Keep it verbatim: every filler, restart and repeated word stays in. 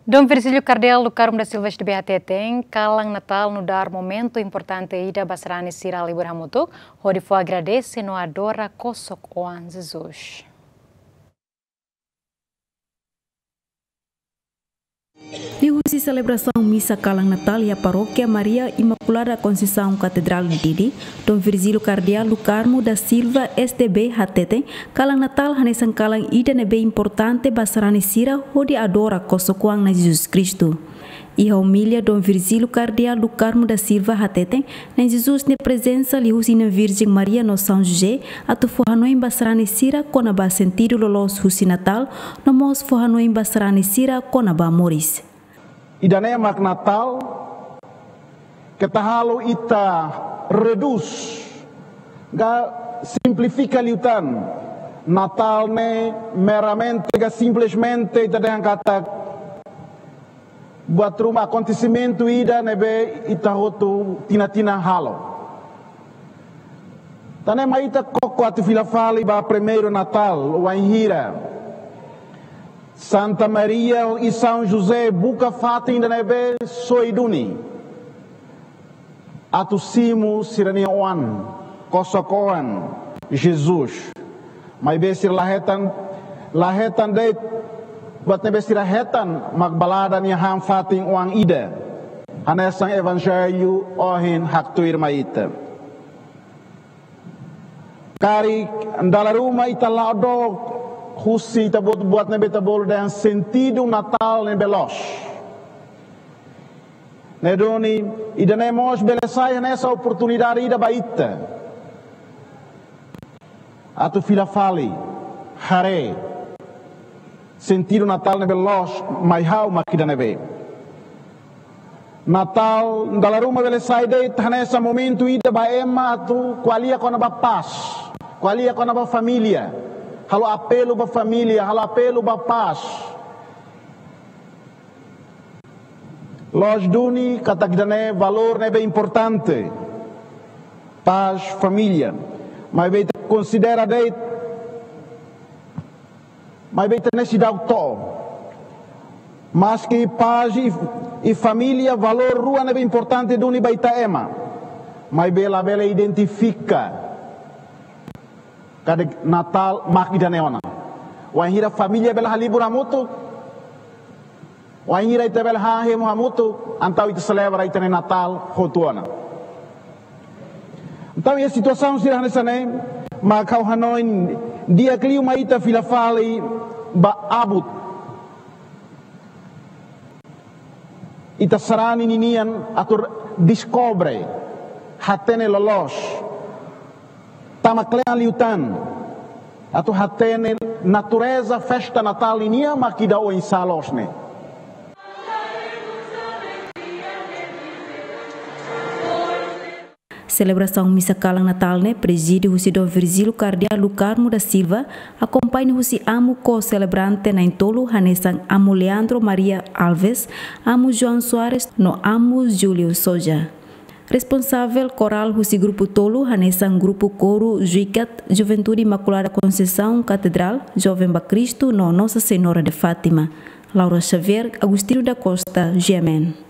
Dom Virgílio Kardeál do Carmo da Silva S D B hateten, kalan Natál nu'udar momentu importante ida ba sarani sira halibur hamutuk, hodi fó agradese no adora kosok-oan Jesus. Liuhusi selebrasaun misa kalan Natál iha Parókia Maria Imakulada Konseisaun Katedrál Dili, Dom Virgílio Kardeál do Carmo da Silva S D B hateten, kalan Natál hanesan kalan ida ne'ebé importante ba sarani sira hodi adora kosok-oan Na'i Jesus Kristu. Iha omilia, Dom Virgílio Kardeál do Carmo da Silva hateten, Na'i Jesus nia prezensa liuhusi Virjen Maria no São José atu fó hanoin ba sarani sira kona-ba sentidu loloos husi Natál, no mós fó hanoin ba sarani sira kona-ba moris. Ida-ne'e mak Natál, keta halo ita redús, ka simplifika liután. Natál ne'e meramente ka simplesmente ita dehan katak buat ruma, akontesimentu ida ne'ebé ita hotu tinan-tinan halo. Tan ne'e mak ita koko atu fila fali ba primeiru Natál, wainhira Santa Maria i São José buka fatin ida ne'ebé soe duni atu simu sira-nia oan, kosok-oan Jesus. Maibé sira la hetan, la hetan de'it buat ne'ebé sira hetan mak balada nia han fatin oan ida. Hanesan Evanjellu ohin haktuir mai ita. Karik dala ruma ita la'o dook husi ita-boot buat ne'ebé ita bolu dehan sentidu Natál ne'ebé loos. Ne'e duni, ida-ne'e mós bele sai hanesan oportunidade ida ba ita atu fila fali, haree sentidu Natál ne'ebé loos mai ha'u mak ida ne'ebé. Natál dala ruma bele sai de'it hanesan momentu ida ba ema atu ko'alia kona-ba pás, ko'alia kona-ba família, halo apelu ba família, halo apelu ba pás. Loos duni katak ida-ne'e valór ne'ebé importante, pás, família. Maibé ita konsidera de'it, maibé ita ne'e seidauk to'o. Maski pás i, i família valór rua ne'ebé importante duni ba ita ema, maibé labele identifika katak Natál mak ida-ne'e ona. Wainhira família bele halibur hamutuk, wainhira ita bele hahemu hamutuk, entaun ita selebra ita-nia Natál hotu ona. Entaun, iha situasaun sira hanesan ne'e, mak ha'u hanoin di'ak liu mai ita fila fali ba abut ita sarani ninian atu deskobre, hatene loloos, tama kle'an liután, atu hatene natureza festa Natál ninian mak ida oinsá loos ne'e. Selebrasaun misa kalan Natál ne'e prezide husi Dom Virgílio Kardeál do Carmo da Silva, akompaña husi amu ko-selebrante na'in-tolu hanesan Amu Leandro Maria Alves, Amu João Soares no Amu Júlio Soja. Responsavel korál husi grupu tolu hanesan grupu koru Juikat, Juventude Imakulada Konseisaun Katedrál, Joven ba Kristu no Nossa Senhora de Fátima. Laura Xavier, Agostinho da Costa, G M N.